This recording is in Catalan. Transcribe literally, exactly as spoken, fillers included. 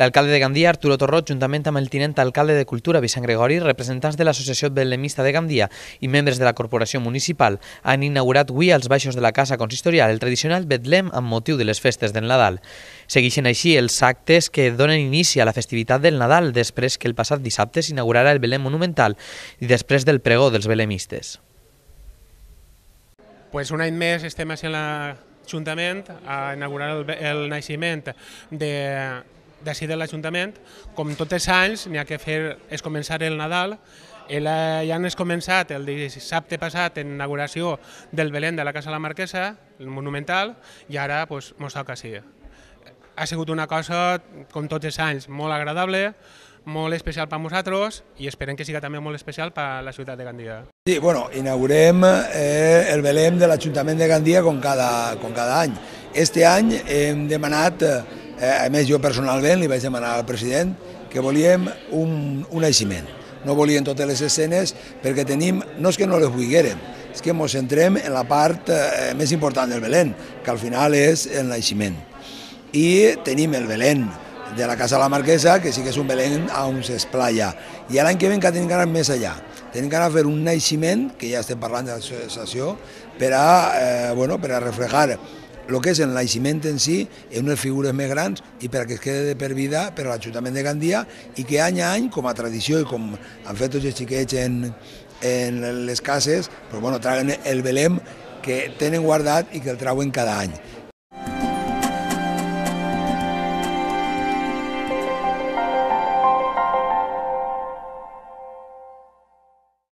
L'alcalde de Gandia, Arturo Torrot, juntament amb el tinent alcalde de Cultura, Vicent Gregori, representants de l'Associació Belemista de Gandia i membres de la Corporació Municipal, han inaugurat avui als baixos de la Casa Consistorial el tradicional Betlem amb motiu de les festes del Nadal. Segueixen així els actes que donen inici a la festivitat del Nadal, després que el passat dissabte s'inaugurarà el Belem monumental i després del pregó dels belemistes. Pues un any més estem a l'Ajuntament a inaugurar el, el naixement de d'ací de l'Ajuntament. Com tots els anys n'hi ha que fer és començar el Nadal. El, ja han començat el dissabte passat en inauguració del Belém de la Casa de la Marquesa, el monumental, i ara pues, mos toca així. Ha sigut una cosa, com tots els anys, molt agradable, molt especial per a nosaltres i esperem que sigui també molt especial per a la ciutat de Gandia. Sí, bueno, inaugurem eh, el Belém de l'Ajuntament de Gandia com cada, com cada any. Este any hem demanat, eh, a més jo personalment li vaig demanar al president que volíem un, un naixement. No volíem totes les escenes perquè tenim, no és que no les vulguérem, és que ens centrem en la part eh, més important del Belém, que al final és el naixement. I tenim el Belém de la Casa de la Marquesa, que sí que és un Belém on s'esplaya. I l'any que ve encara tenim ganes més allà. Tenim ganes de fer un naixement, que ja estem parlant de l'associació, per a, eh, bueno, per a reflejar el que és el naixement en si en unes figures més grans i per a que es quede de per vida per a l'Ajuntament de Gandia i que any a any, com a tradició i com han fet tots els xiquets en, en les cases, pues, bueno, traguen el Belém que tenen guardat i que el trauen cada any.